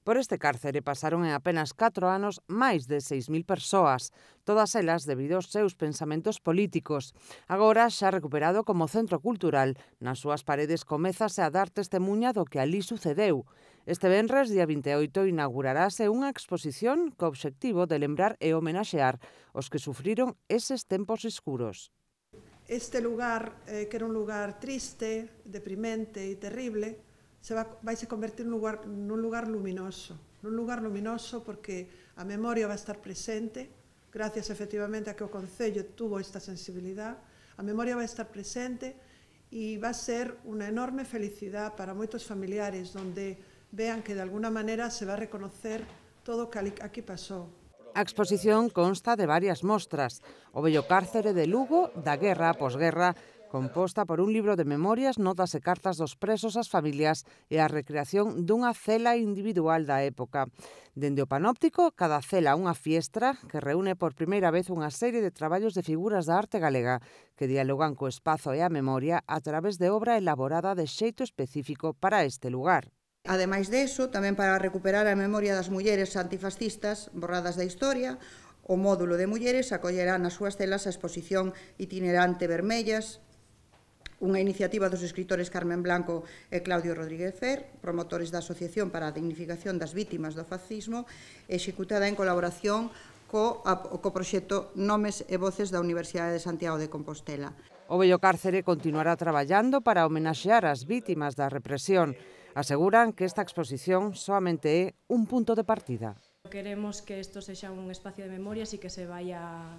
Por este cárcere pasaron en apenas 4 anos máis de 6.000 persoas, todas elas debido aos seus pensamentos políticos. Agora, xa recuperado como centro cultural, nas súas paredes comezase a dar testemuña do que alí sucedeu. Este venres, día 28, inaugurarase unha exposición co obxectivo de lembrar e homenaxear os que sufriron eses tempos escuros. Este lugar, que era un lugar triste, deprimente e terrible, vai se convertir nun lugar luminoso. Nun lugar luminoso porque a memoria vai estar presente, gracias efectivamente a que o Concello tuvo esta sensibilidade, a memoria vai estar presente e vai ser unha enorme felicidade para moitos familiares, onde vean que de alguna maneira se vai reconocer todo o que aquí pasou. A exposición consta de varias mostras. O vello cárcere de Lugo, da guerra a posguerra, composta por un libro de memorias, notas e cartas dos presos ás familias e a recreación dunha cela individual da época. Dende o panóptico, cada cela unha fiestra que reúne por primeira vez unha serie de traballos de figuras da arte galega que dialogan co espazo e a memoria a través de obra elaborada de xeito específico para este lugar. Ademais deso, tamén para recuperar a memoria das mulleres antifascistas borradas da historia, o módulo de mulleres acollerá nas súas celas a exposición itinerante Vermellas, unha iniciativa dos escritores Carmen Blanco e Claudio Rodríguez Fer, promotores da Asociación para a Dignificación das Vítimas do Fascismo, executada en colaboración co proxecto Nomes e Voces da Universidade de Santiago de Compostela. O vello cárcere continuará traballando para homenaxear as vítimas da represión. Aseguran que esta exposición soamente é un punto de partida. Queremos que isto sexa un espacio de memorias e que se vaya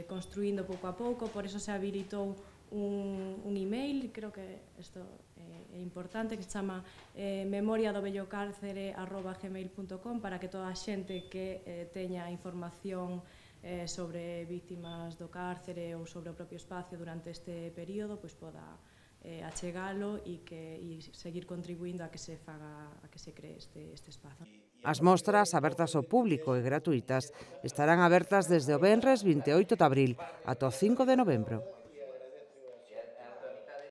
construindo pouco a pouco, por eso se habilitou un email, creo que isto é importante, que se chama memoriadobellocárcere@gmail.com, para que toda a xente que teña información sobre vítimas do cárcere ou sobre o propio espacio durante este período poda achegalo e seguir contribuindo a que se cree este espazo. As mostras, abertas ao público e gratuítas, estarán abertas desde o venres 28 de abril ata o 5 de novembro.